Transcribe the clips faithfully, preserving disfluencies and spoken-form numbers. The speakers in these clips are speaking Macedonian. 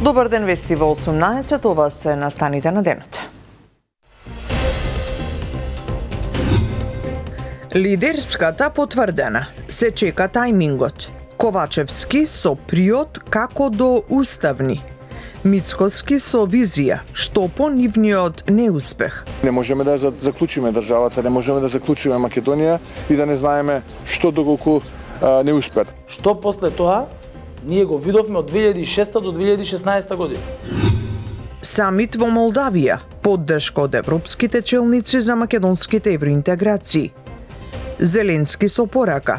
Добар ден, вести во осумнаесет, ова се настаните на денот. Лидерската потврдена. Се чека тајмингот. Ковачевски со приод како до уставни. Мицкоски со визија, што по нивниот неуспех. Не можеме да заклучиме државата, не можеме да заклучиме Македонија и да не знаеме што доколку а, не успеат. Што после тоа ние го видовме од две илјади и шеста до две илјади и шеснаесета година. Самит во Молдавија, поддршка од европските челници за македонските евроинтеграции. Зеленски со порака.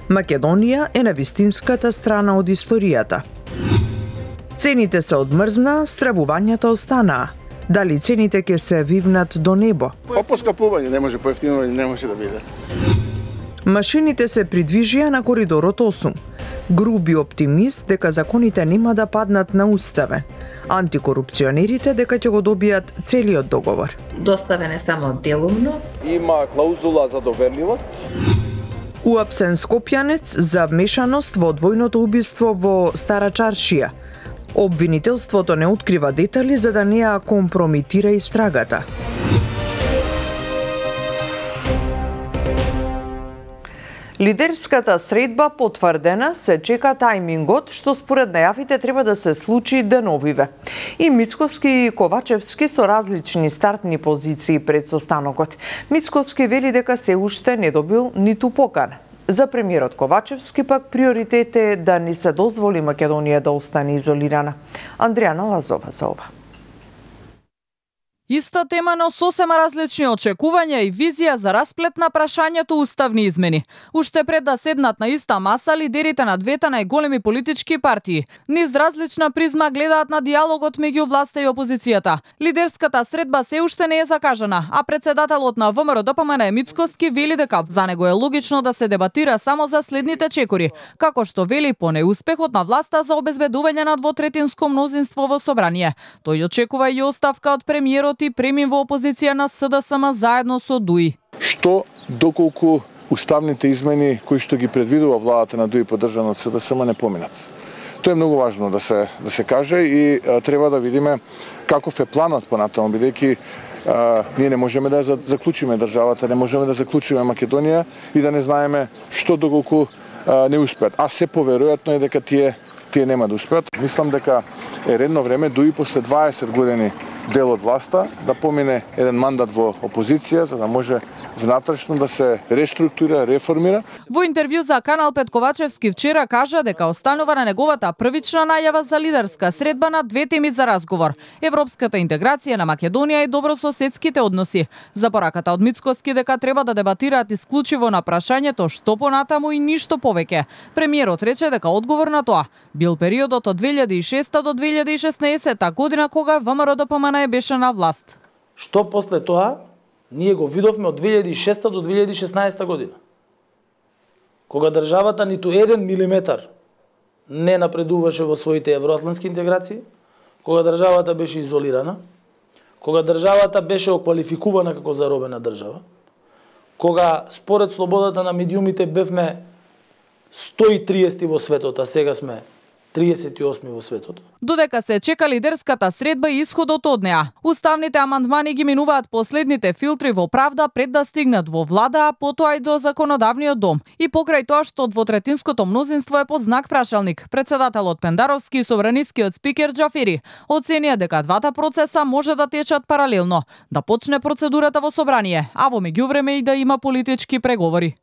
Македонија е на вистинската страна од историјата. Цените се одмрзна, стравувањата останаа. Дали цените ќе се вивнат до небо? Па поскапување не може, поевтинување не може да биде. Машините се придвижија на коридорот осум. Груби оптимист дека законите нема да паднат на уставен. Антикорупционерите дека ќе го добијат целиот договор. Доставен е само делумно. Има клаузула за доверливост. Уапсен скопјанец за вмешаност во двојното убиство во Стара Чаршија. Обвинителството не открива детали за да не ја компромитира истрагата. Лидерската средба потврдена, се чека тајмингот, што според најавите треба да се случи деновиве. И Мицкоски и Ковачевски со различни стартни позиции пред состанокот. Мицкоски вели дека се уште не добил ниту покана. За премиерот Ковачевски пак приоритет е да не се дозволи Македонија да остане изолирана. Андријана Лазова за ова. Иста тема, но сосема различни очекувања и визија за расплет на прашањето уставни измени. Уште пред да седнат на иста маса, лидерите на двете најголеми политички партии низ различна призма гледаат на диалогот меѓу власта и опозицијата. Лидерската средба се уште не е закажана, а председателот на ВМРО Д П М Н Мицкоски вели дека за него е логично да се дебатира само за следните чекори, како што вели по неуспехот на власта за обезбедување на двотретинско мнозинство во собрание. Тој очекува и оставка од премиерот и премин во опозиција на С Д С М заедно со Д У И. Што доколку уставните измени кои што ги предвидува владата на Д У И поддржана од С Д С М не поминат. Тоа е многу важно да се да се каже и а, треба да видиме каков е планот понатаму, бидејќи ние не можеме да заклучиме државата, не можеме да заклучиме Македонија и да не знаеме што доколку а, не успеат. А се поверојатно е дека тие тие нема да успеат. Мислам дека е редно време Д У И после дваесет години дел од власта да помине еден мандат во опозиција за да може внатрешно да се реструктурира, реформира. Во интервју за Канал пет Ковачевски вчера кажа дека останува на неговата првична најава за лидерска средба на две теми за разговор: европската интеграција на Македонија и добрососедските односи. За пораката од Мицкоски дека треба да дебатираат исклучиво на прашањето што понатаму и ништо повеќе. Премиерот рече дека одговор на тоа бил периодот од две илјади и шеста до две илјади и шеснаесета година кога Вэ М Р Д П М Н беше на власт. Што после тоа ние го видовме од две илјади и шеста до две илјади и шеснаесета година. Кога државата ниту еден милиметар не напредуваше во своите евроатлантски интеграции, кога државата беше изолирана, кога државата беше оквалификувана како заробена држава, кога според слободата на медиумите бевме сто и триесети во светот, а сега сме триесет и осми во светот. Додека се чека лидерската средба и исходот од неа, уставните амандмани ги минуваат последните филтри во правда пред да стигнат во влада, а потоа и до законодавниот дом. И покрај тоа што двотретинското мнозинство е под знак прашалник, председателот Пендаровски и собранискиот спикер Џафери оценија дека двата процеса може да течат паралелно, да почне процедурата во собрание, а во меѓувреме и да има политички преговори.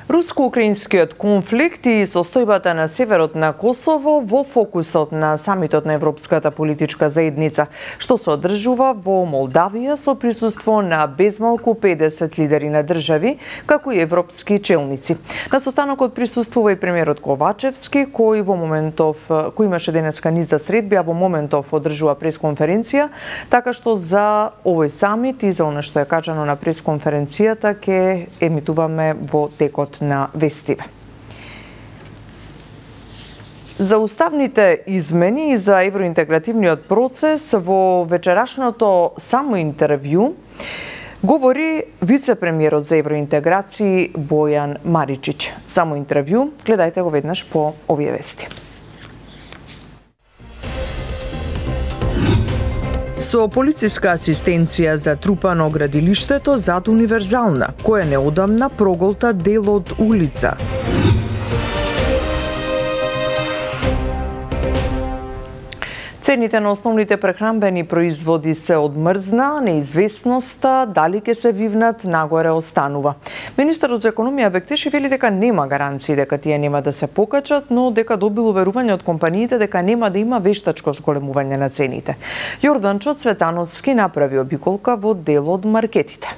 Руско-украинскиот конфликт и состојбата на северот на Косово во фокусот на самитот на Европската политичка заедница, што се одржува во Молдавија со присуство на безмалку педесет лидери на држави, како и европски челници. На состанокот присуствува и премиерот Ковачевски, кој во моментов кој имаше денеска низ за средби, а во моментов одржува пресконференција, така што за овој самит и за она што е кажано на пресконференцијата ќе емитуваме во текот на вестиве. За уставните измени и за евроинтегративниот процес во вечерашното само интервју говори вице-премиерот за евроинтеграции Бојан Маричич. Само интервју, гледајте го веднаш по овие вести. Со полициска асистенција за трупано градилиштето зад Универзална, која неодамна проголта дел од улица. Цените на основните прехранбени производи се одмрзна, неизвестноста дали ќе се вивнат нагоре останува. Министерот за економија Бектеши вели дека нема гаранции дека тие нема да се покачат, но дека добил уверување од компаниите дека нема да има вештачко зголемување на цените. Јорданчо Цветановски направи обиколка во дел од маркетите.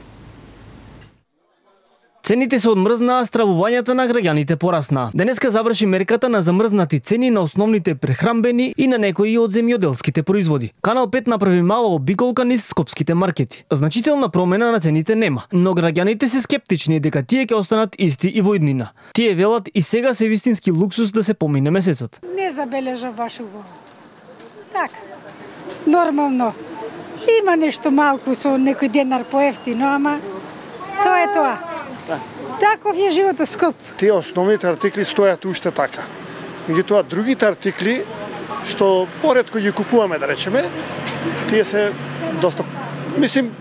Цените се одмрзнаа, стравувањата на граѓаните порасна. Денеска заврши мерката на замрзнати цени на основните прехранбени и на некои од земјоделските производи. Канал пет направи мала обиколка низ скопските маркети. Значителна промена на цените нема, но граѓаните се скептични дека тие ќе останат исти и во иднина. Тие велат и сега се вистински луксус да се помине месецот. Не забележав баш убаво. Так, нормално. Има нешто малку со некој денар поевтино, ама тоа е тоа. Таков е животот скоп. Тие основните артикли стојат уште така. Меѓутоа другите артикли што поретко ги купуваме, да речеме, тие се доста, мислим,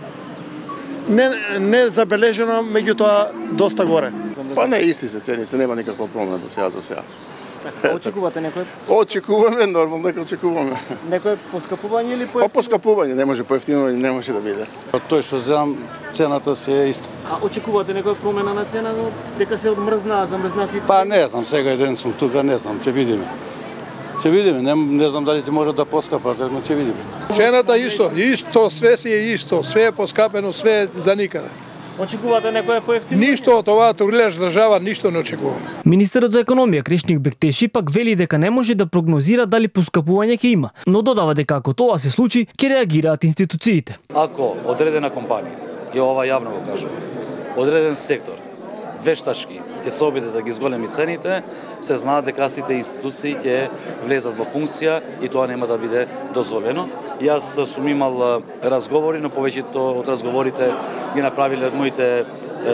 не не забележено, меѓутоа доста горе. Па не, исти се цените, нема никаква промена до сега за сега. Така, очекувате некој? Очекуваме, нормално дека очекуваме. Некој поскапување или поевтинување? Па поскапување, не може поевтинување, не може да биде. Тој што земам, цената си е иста. А очекувате некоја промена на цена, дека се одмрзнаа, замрзнатите? Па не знам, сега еден сум тука, не знам, ќе видиме. Ќе видиме, не, не знам дали се може да поскапат, но ќе видиме. Цената исто, исто, све си е исто, све е поскапено, све е за никаде. Очекувате некоја поевтинување? Ништо од оваа турлеш држава, ништо не очекуваме. Министерот за економија Кришник Бектеши пак вели дека не може да прогнозира дали поскапување ќе има, но додава дека ако тоа се случи, ќе реагираат институциите. Ако одредена компанија, и ова јавно го кажувам, одреден сектор вештачки ќе се обиде да ги зголеми цените, се знаат дека сите институции ќе влезат во функција и тоа нема да биде дозволено. Јас сум имал разговори, но повеќето од разговорите ги направиле од моите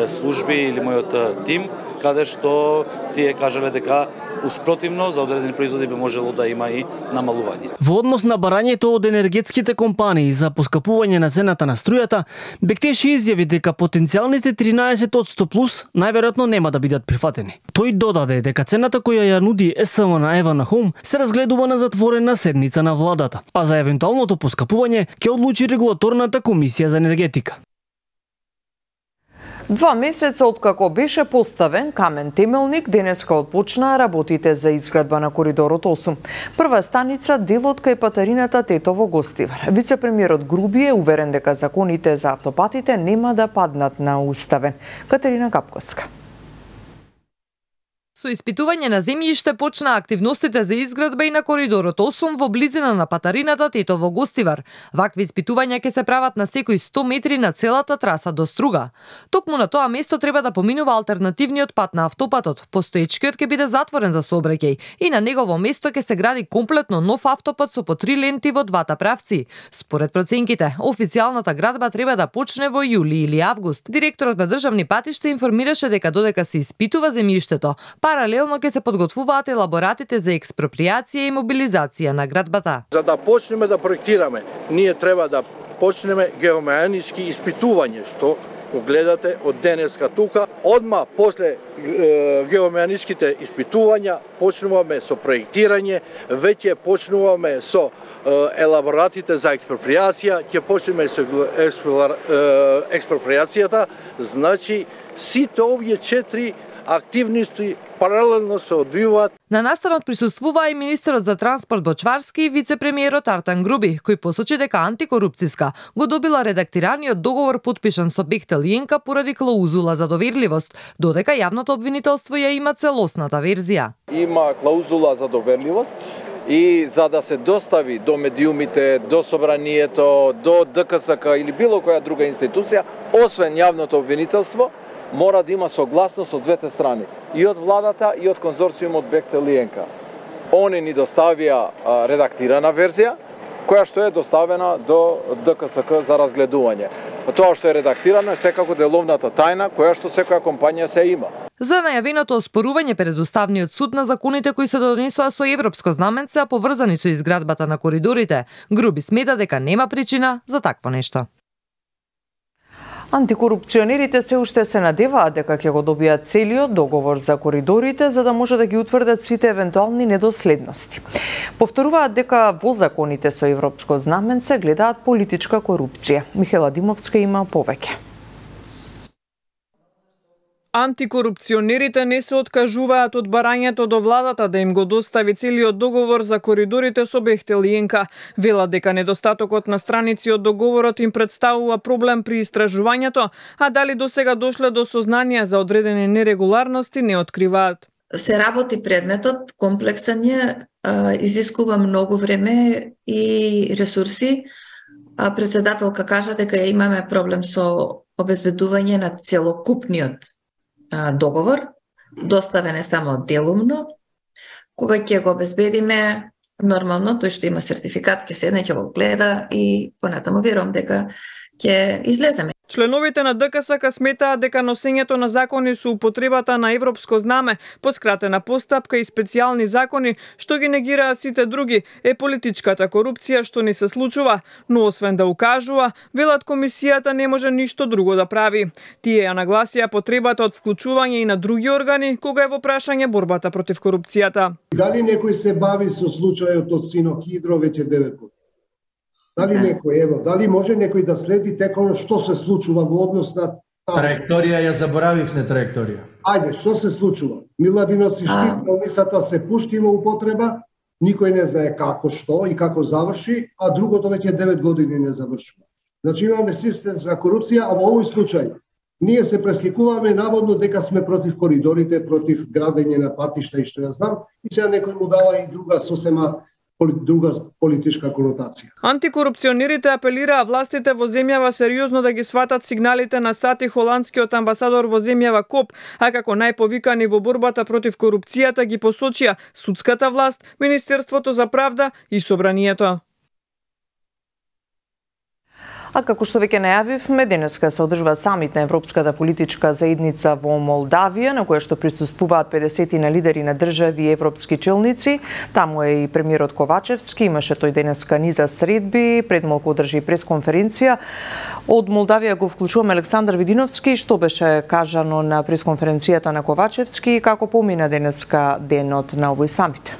служби или мојот тим, каде што тие кажале дека успротивно за одредени производи би можело да има и намалување. Во однос на барањето од енергетските компании за поскапување на цената на струјата, Бектеши изјави дека потенцијалните тринаесет одсто плюс најверојатно нема да бидат прифатени. Тој додаде дека цената која ја нуди ЕСМ на Ева на Хом се разгледува на затворена седница на владата, а за евентуалното поскапување ќе одлучи регулаторната комисија за енергетика. Два месеца откако беше поставен камен темелник, денеска отпочнаа работите за изградба на коридорот осум. Прва станица делот кај патарината Тетово Гостивар. Вице-премиерот Груби е уверен дека законите за автопатите нема да паднат на уставен. Катерина Капковска. Со испитување на земјиште почнаа активностите за изградба и на коридорот осум во близина на патарината Тетово Гостивар. Вакви испитувања ќе се прават на секои сто метри на целата траса до Струга. Токму на тоа место треба да поминува алтернативниот пат на автопатот. Постоечкиот ќе биде затворен за сообраќај и на негово место ќе се гради комплетно нов автопат со по три ленти во двата правци. Според проценките, официјалната градба треба да почне во јули или август. Директорот на државни патишта информираше дека додека се испитува земјиштето, паралелно ќе се подготвуваат елаборатите за експроприација и мобилизација на градбата. За да почнеме да проектираме, ние треба да почнеме геомеханички испитување, што го гледате од денеска тука. Одма после е, геомеханичките испитувања почнуваме со проектирање, веќе почнуваме со е, елаборатите за експроприација, ќе почнеме со е, експроприацијата, значи сите овие четири активности паралелно се одвиваат. На настанот присуствуваа и министерот за транспорт Бочварски и вице-премиерот Артан Груби, кој посочи дека антикорупцијска го добила редактираниот договор подпишан со Бехтел Јенка поради клаузула за доверливост, додека јавното обвинителство ја има целосната верзија. Има клаузула за доверливост и за да се достави до медиумите, до собранието, до ДКСК или било која друга институција, освен јавното обвинителство, мора да има согласност од двете страни, и од владата и од конзорциумот Бехтел Јенка. Они ни доставија редактирана верзија, која што е доставена до ДКСК за разгледување. Тоа што е редактирано е секако деловната тајна, која што секоја компанија се има. за најавеното оспорување пред Уставниот суд на законите кои се донесоа со европско знаменце, а поврзани со изградбата на коридорите. Груби смета дека нема причина за такво нешто. Антикорупционерите се уште се надеваат дека ќе го добијат целиот договор за коридорите за да може да ги утврдат сите евентуални недоследности. Повторуваат дека во законите со европско знаменце гледаат политичка корупција. Михела Димовска има повеќе. Антикорупционерите не се откажуваат од барањето до владата да им го достави целиот договор за коридорите со Бехтел и Енка. Велат дека недостатокот на страници од договорот им представува проблем при истражувањето, а дали досега дошле до сознание за одредени нерегуларности не откриваат. Се работи предметот, комплексен е, изискува многу време и ресурси. Председателка кажа дека имаме проблем со обезбедување на целокупниот договор, доставен е само делумно. Кога ќе го обезбедиме, нормално тој што има сертификат ќе седне, ќе го гледа и понатаму верувам дека ќе излеземе. Членовите на ДКСК сметаат дека носењето на закони со употребата на европско знаме, поскратена постапка и специјални закони, што ги негираат сите други, е политичката корупција што не се случува, но освен да укажува, велат комисијата не може ништо друго да прави. Тие ја нагласија потребата од вклучување и на други органи кога е во прашање борбата против корупцијата. Дали некој се бави со случајот од Синохидро веќе девет години? Дали некој, ево, дали може некој да следи текот што се случува во однос на траекторија? Ја заборавив не траекторија. Ајде, што се случува? Миладиновци штит, болницата се пушти во употреба, никој не знае како, што и како заврши, а другото веќе девет години не завршува. Значи имаме системска корупција, а во овој случај ние се пресликуваме наводно дека сме против коридорите, против градење на патишта и што ја знам, и сега некој му дава и друга сосема друга политичка конотација. Антикорупционерите апелираа властите во земјава сериозно да ги сватат сигналите на Сати, холандскиот амбасадор во земјава Коп, а како најповикани во борбата против корупцијата ги посочија судската власт, Министерството за правда и Собранието. А како што веќе најавивме, денеска се одржува самит на Европската политичка заедница во Молдавија, на која што присуствуваат педесет на лидери на држави и европски челници. Таму е и премиерот Ковачевски, имаше тој денеска низа средби, пред малку одржи пресконференција. Од Молдавија го вклучуваме Александар Видиновски. Што беше кажано на пресконференцијата на Ковачевски и како помина денеска денот на овој самит?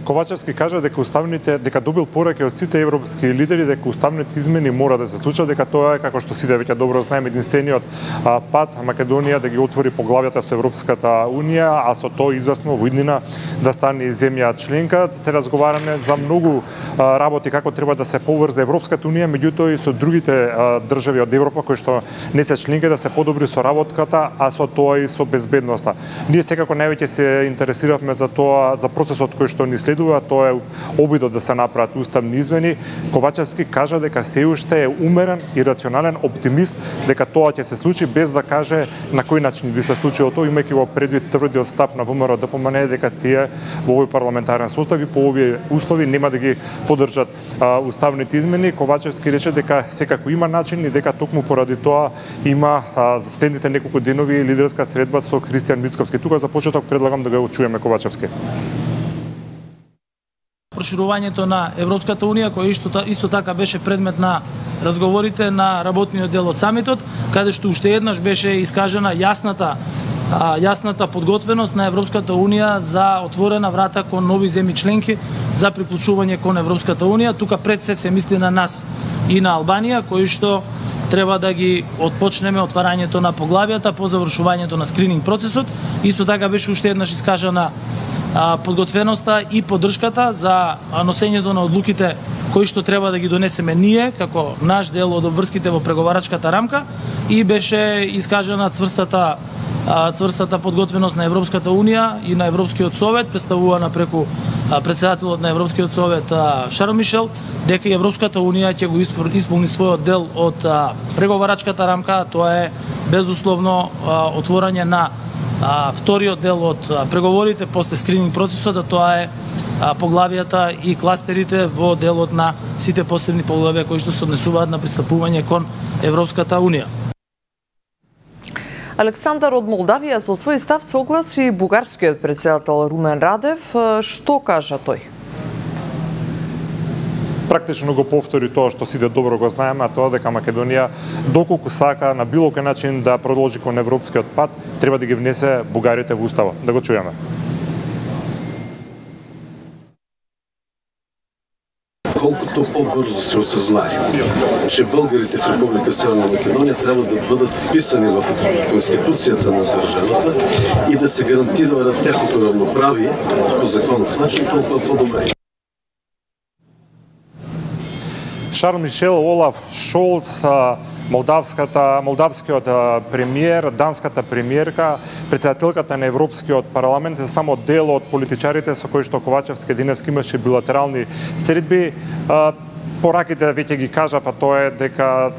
Ковачевски кажа дека уставните дека добил пораки од сите европски лидери дека уставните измени мора да се случат, дека тоа е, како што сите веќе добро знаеме, единствениот пат Македонија да ги отвори поглавјата со Европската унија, а со тоа известно во иднина да стане земја членка. Се разговараме за многу работи како треба да се поврзе Европската унија, меѓутоа и со другите држави од Европа кои што не се членки да се подобри соработката, а со тоа и со безбедноста. Ние секако највеќе се интересиравме за тоа, за процесот кој што ни следува, тоа е обидот да се направат уставни измени. Ковачевски кажа дека се уште е умерен и рационален оптимист дека тоа ќе се случи, без да каже на кој начин би се случило тоа, имајќи во предвид тврдиот став на ВМРО да помане дека тие во овој парламентарен состав и по овие услови нема да ги поддржат а, уставните измени. Ковачевски рече дека секако има начин и дека токму поради тоа има а, за следните неколку денови лидерска средба со Христијан Мицковски. Тука за почеток предлагам да го чуеме Ковачевски. Проширувањето на Европската унија, кој исто, исто така беше предмет на разговорите на работниот дел од самитот, каде што уште еднаш беше искажена јасната а, јасната подготвеност на Европската унија за отворена врата кон нови земји членки за приклучување кон Европската унија. Тука пред се се мисли на нас и на Албанија, кои што треба да ги отпочнеме отварањето на поглавјата по завршувањето на скрининг процесот. Исто така беше уште еднаш искажана подготвеноста и поддршката за носењето на одлуките кои што треба да ги донесеме ние како наш дел од обврските во преговарачката рамка, и беше искажана цврстата цврстата подготвеност на Европската унија и на Европскиот совет, представувана преку председателот на Европскиот совет Шарл Мишел, дека и Европската унија ќе го исполни својот дел од преговарачката рамка. Тоа е безусловно отворање на вториот дел од преговорите после скрининг процесот, да тоа е поглавијата и кластерите во делот на сите посебни поглавија кои што се однесуваат на пристапување кон Европската унија. Александар од Молдавија со свој став согласи бугарскиот председател Румен Радев. Што кажа тој? Практично го повтори тоа што сите добро го знаеме, а тоа дека Македонија доколку сака на било кој начин да продолжи кон европскиот пат, треба да ги внесе бугарите во уставот. Да го чуеме. Колкото по-бързо се осъзнае, че българите в Република Северна Македония трябва да бъдат вписани в Конституцията на държавата и да се гарантира на тяхното равноправие по законов начин, толкова по-добре. Шарл Мишел, Олаф Шолц, молдавската, молдавскиот премиер, данската премиерка, председателката на Европскиот парламент е само дел од политичарите со кои што Ковачевски денеска имаше билатерални средби. Пораките веќе ги кажав, а тоа е дека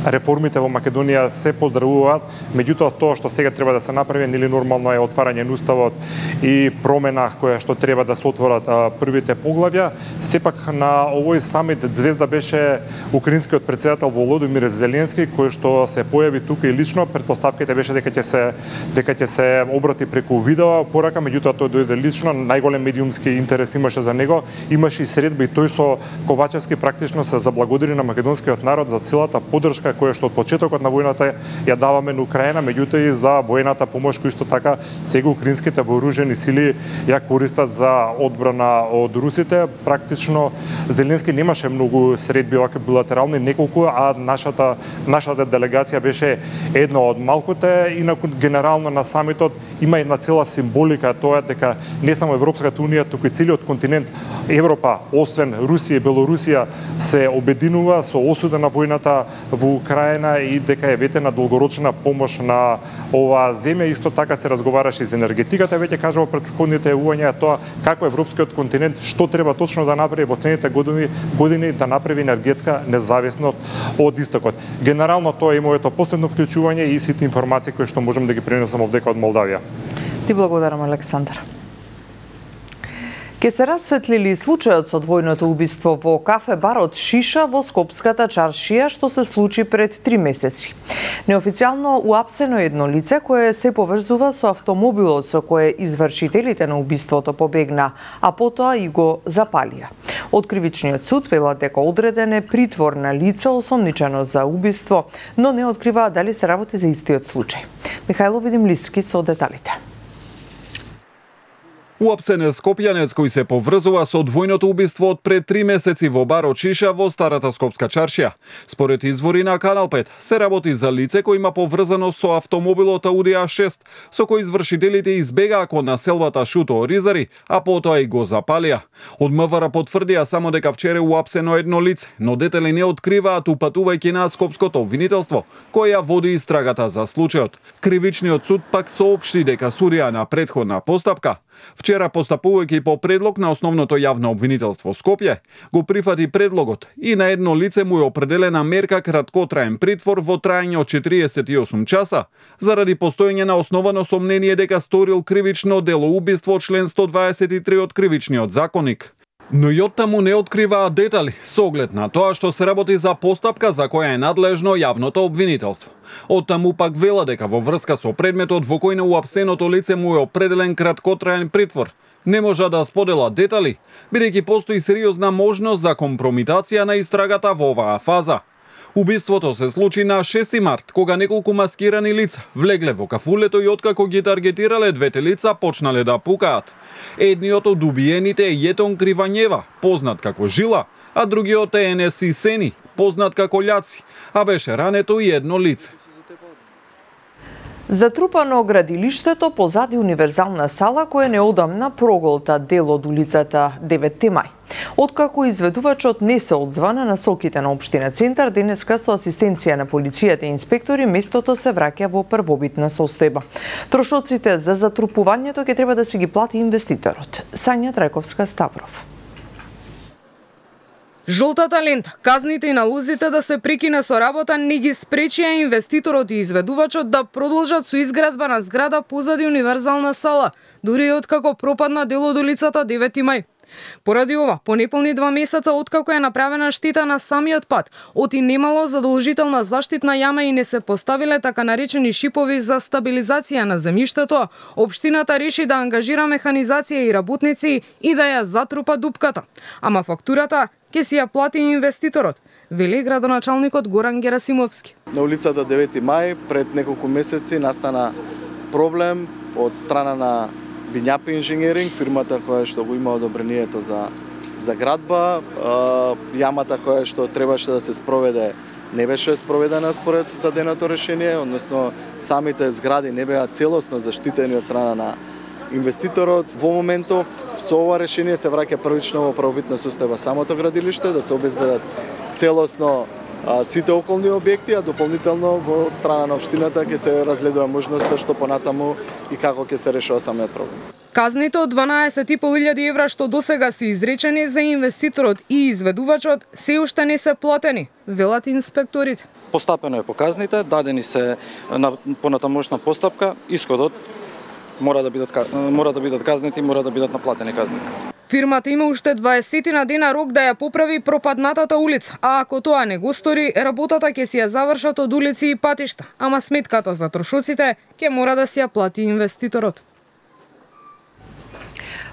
реформите во Македонија се поздравуваат, меѓутоа тоа што сега треба да се направи, нели нормално е отварање на уставот и промена која што треба да се отворат а, првите поглавја. Сепак на овој самит звезда беше украинскиот председател Володимир Зеленски, кој што се појави тука и лично. Претпоставките беше дека ќе се дека ќе се обрати преку видео порака, меѓутоа тој дојде лично. Најголем медиумски интерес имаше за него. Имаше и средба и тој со Ковачевски практично се заблагодари на македонскиот народ за целата поддршка која што од почетокот на војната ја даваме на Украина, меѓутоа и за воената помош кој исто така сега украинските вооружени сили ја користат за одбрана од русите. Практично Зеленски немаше многу средби овака билатерални, неколку, а нашата нашата делегација беше една од малкуте. Инаку генерално на самитот има една цела символика, тоа дека не само Европската унија, туку и целиот континент Европа, освен Русија и Белорусија, се обединува со осуда на војната во Украина и дека е ветена долгорочна помош на оваа земја. Исто така се разговараше за енергетиката, веќе кажа во претходните јавувања тоа како европскиот континент што треба точно да направи во следните години, години да направи енергетска независност од истокот. Генерално тоа е моето последно вклучување и сите информации кои што можам да ги пренесам овдека од Молдавија. Ти благодарам, Александар. Ке се расветли ли случајот со двојното убиство во кафе-барот Шиша во Скопската чаршија, што се случи пред три месеци. Неофицијално уапсено едно лице кое се поврзува со автомобилот со кое извршителите на убиството побегна, а потоа и го запалија. Од кривичниот суд велат дека одреден е притвор на лице осомничено за убиство, но не открива дали се работи за истиот случај. Михајло Видимлиски со деталите. Уапсен е скопјанец кој се поврзува со двојното убиство од пред три месеци во барот Шиша во старата Скопска чаршија. Според извори на Канал пет, се работи за лице кој има поврзано со автомобилот Ауди А шест, со кој извршителите избегаа кон населбата Шуто Оризари, а потоа и го запалија. Од МВР потврдија само дека вчера уапсено едно лице, но детали не откриваат упатувајќи на скопското обвинителство, која води истрагата за случајот. Кривичниот суд пак соопшти дека судија на претходна постапка вчера постапувајќи по предлог на основното јавно обвинителство Скопје, го прифати предлогот и на едно лице му е определена мерка краткотраен притвор во траење од четириесет и осум часа, заради постоење на основано сомнение дека сторил кривично дело убиство член сто дваесет и три од кривичниот законник. Но и оттаму не откриваат детали, со оглед на тоа што се работи за постапка за која е надлежно јавното обвинителство. Оттаму пак вела дека во врска со предметот во кој на уапсеното лице му е определен краткотраен притвор, не можа да сподела детали, бидејќи постои сериозна можност за компромитација на истрагата во оваа фаза. Убиството се случи на шести март, кога неколку маскирани лица влегле во кафулето и откако ги таргетирале двете лица почнале да пукаат. Едниот од убиените е Јетон Кривањева, познат како Жила, а другиот е Енес Исени, познат како Љаци, а беше рането и едно лице. Затрупано градилиштето позади универзална сала која неодамна проголта дел од улицата деветти мај. Откако изведувачот не се одзвана на насоките на општина Центар, денеска со асистенција на полицијата и инспектори, местото се враќа во првобитна состојба. Трошоците за затрупувањето ќе треба да се ги плати инвеститорот. Сања Трајковска Ставров. Жолтата лента, казните и налозите да се прекине со работа не ги спречија инвеститорот и изведувачот да продолжат со изградба на зграда позади универзална сала, дури и откако пропадна дел од улицата деветти мај. Поради ова, по неполни два месеца откако е направена штета на самиот пат, оти немало задолжителна заштитна јама и не се поставиле така наречени шипови за стабилизација на земјиштето, општината реши да ангажира механизација и работници и да ја затрупа дупката. Ама фактурата ќе си ја плати инвеститорот, вели градоначалникот Горан Герасимовски. На улицата девети мај пред неколку месеци настана проблем од страна на Бинјапи инженеринг, фирмата која што го има одобрението за за градба. Јамата која што требаше да се спроведе не беше спроведена според даденото решение, односно самите згради не беа целосно заштитени од страна на инвеститорот. Во моментов со ова решение се враќа првично во правобитна состојба самото градилиште, да се обезбедат целосно а, сите околни објекти, а дополнително во страна на општината ќе се разгледува можноста што понатаму и како ќе се решава самиот проблем. Казните од дванаесет и пол илјади евра што досега се изречени за инвеститорот и изведувачот се уште не се платени, велат инспекторите. Постапено е по казните, дадени се на понатамошна постапка, исходот мора да бидат мора да бидат казнети, мора да бидат наплатени казните. Фирмата има уште дваесет на дена рок да ја поправи пропаднатата улица, а ако тоа не го стори, работата ќе си ја завршат од улици и патишта, ама сметката за трошоците ќе мора да си ја плати инвеститорот.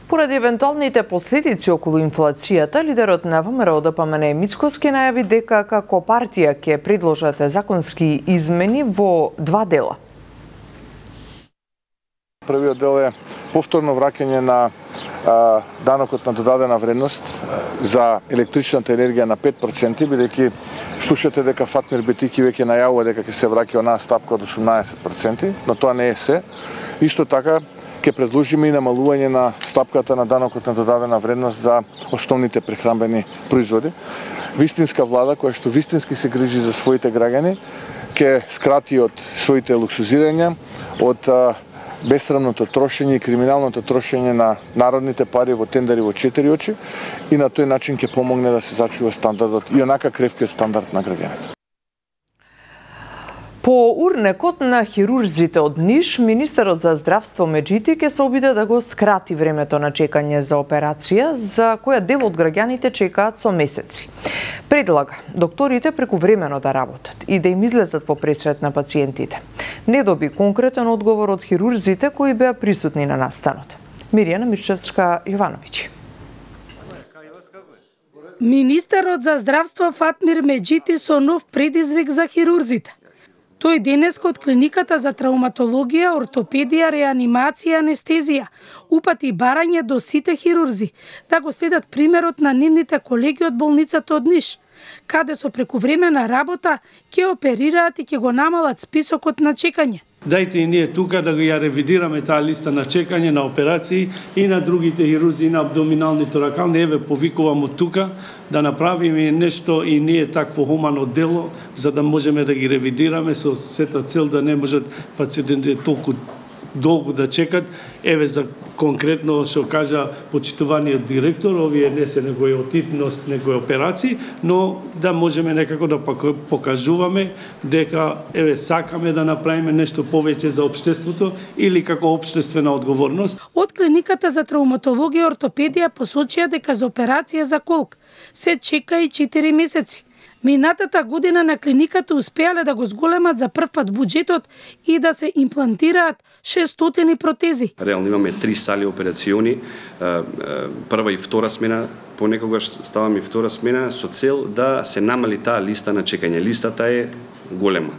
Поради евентуалните последици околу инфлацијата, лидерот на ВМРО Д П М Н Мицкоски најави дека како партија ќе предложат законски измени во два дела. Првиот дел е повторно враќање на а, данокот на додадена вредност а, за електричната енергија на пет проценти, бидејќи слушате дека Фатмир Бетики веќе најавува дека ќе се враќа онаа стапка од осумнаесет проценти, но тоа не е се. Исто така ќе предложиме и намалување на стапката на данокот на додадена вредност за основните прехранбени производи. Вистинска влада која што вистински се грижи за своите граѓани ќе скрати од своите луксузирања, од а, бесрамното трошење и криминалното трошење на народните пари во тендери во четири очи и на тој начин ќе помогне да се зачува стандардот и онака кревкиот стандард на граѓаните. По урнекот на хирурзите од Ниш, министерот за здравство Меджити ќе се обиде да го скрати времето на чекање за операција, за која дел од граѓаните чекаат со месеци. Предлага докторите прекувремено да работат и да им излезат во пресрет на пациентите. Не доби конкретен одговор од хирурзите кои беа присутни на настанот. Мирјана Мирчевска-Јовановиќ. Министерот за здравство Фатмир Меджити со нов предизвик за хирурзите. Тој денеска од клиниката за травматологија, ортопедија, реанимација, анестезија упати барање до сите хирурзи да го следат примерот на нивните колеги од болницата од Ниш, каде со прекувремена работа ќе оперираат и ќе го намалат списокот на чекање. Дајте и ние тука да го ја ревидираме таа листа на чекање на операции и на другите хирурзи, и на абдоминални торакални. Еве повикувам од тука да направиме нешто и ние такво хумано дело, за да можеме да ги ревидираме со сета цел да не можат пациентите толку долго да чекат. Еве за конкретно што кажа почитуваниот директор, овие не се некои отитност, некои операции, но да можеме некако да покажуваме дека еве сакаме да направиме нешто повеќе за општеството или како општествена одговорност. Од клиниката за травматологија и ортопедија посочија дека за операција за колк се чека и четири месеци. Минатата година на клиниката успеале да го зголемат за прв пат буџетот и да се имплантираат шестстотини протези. Реално имаме три сали операциони, прва и втора смена, понекогаш ставаме и втора смена со цел да се намали таа листа на чекање. Листата е голема.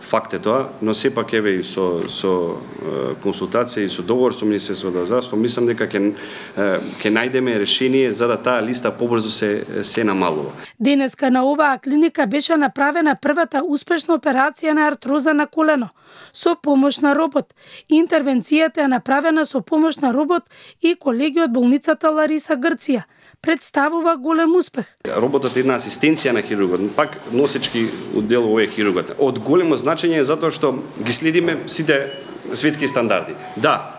Факт е тоа, но сепак еве и со со консултација и со договор со Министерството за здравство, мислам дека ќе ќе најдеме решение за да таа листа побрзо се се намалува. Денеска на оваа клиника беше направена првата успешна операција на артроза на колено со помош на робот. Интервенцијата е направена со помош на робот и колеги од болницата Лариса Грција. Представува голем успех. Роботот е една асистенција на хирургот, пак носечки дел овој хирургот. Од големо значење е затоа што ги следиме сите светски стандарди. Да,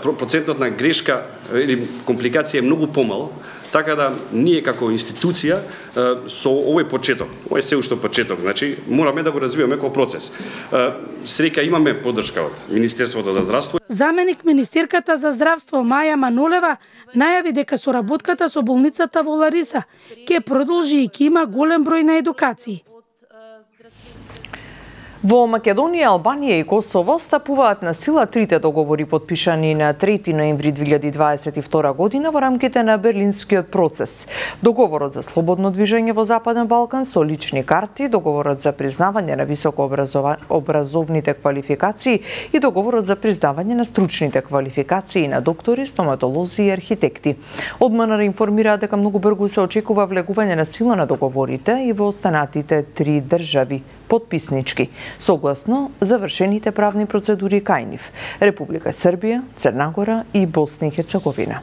процентот на грешка или компликација е многу помал, Така да ние како институција со овој почеток, овој се уште почеток, значи мораме да го развиваме како процес. Среќа имаме поддршка од Министерството за здравство. Заменик министерката за здравство Маја Манулева најави дека соработката со болницата во Лариса ќе продолжи и ќе има голем број на едукации. Во Македонија, Албанија и Косово стапуваат на сила трите договори подпишани на трети ноември две илјади дваесет и втора година во рамките на Берлинскиот процес. Договорот за слободно движење во Западен Балкан со лични карти, договорот за признавање на високообразовните квалификации и договорот за признавање на стручните квалификации на доктори, стоматолози и архитекти. Од МНР информираат дека многу брзо се очекува влегување на сила на договорите и во останатите три држави подписнички, согласно завршените правни процедури кај нив: Република Србија, Црна Гора и Босна и Херцеговина.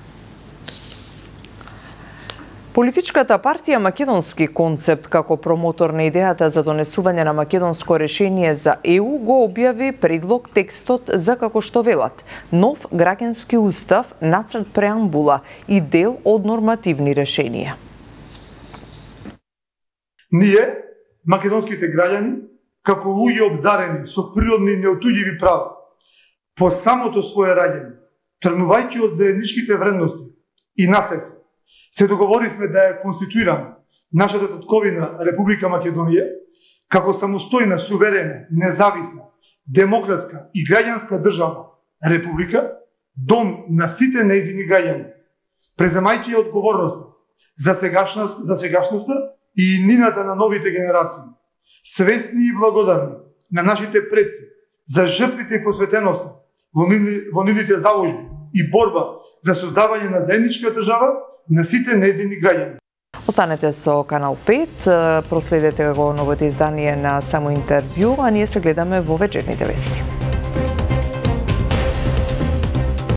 Политичката партија Македонски концепт како промотор на идејата за донесување на македонско решение за Е У го објави предлог текстот за, како што велат, нов граѓански устав, нацрт преамбула и дел од нормативни решенија. Ние, македонските граѓани, како луѓе обдарени со природни неотуѓиви права, по самото свое раѓање, тргнувајќи од заедничките вредности и наследство, се договоривме да ја конституираме нашата татковина Република Македонија како самостојна, суверена, независна, демократска и граѓанска држава Република, дом на сите нејзини граѓани, преземајќи одговорноста за сегашност, за сегашноста и иднината на новите генерации, свесни и благодарни на нашите предци за жртвите и посветеноста во, нивни, во нивните заложби и борба за создавање на заедничка држава на сите нејзини граѓани. Останете со Канал пет, проследете го новото издание на Само интервју, а ние се гледаме во вечерните вести.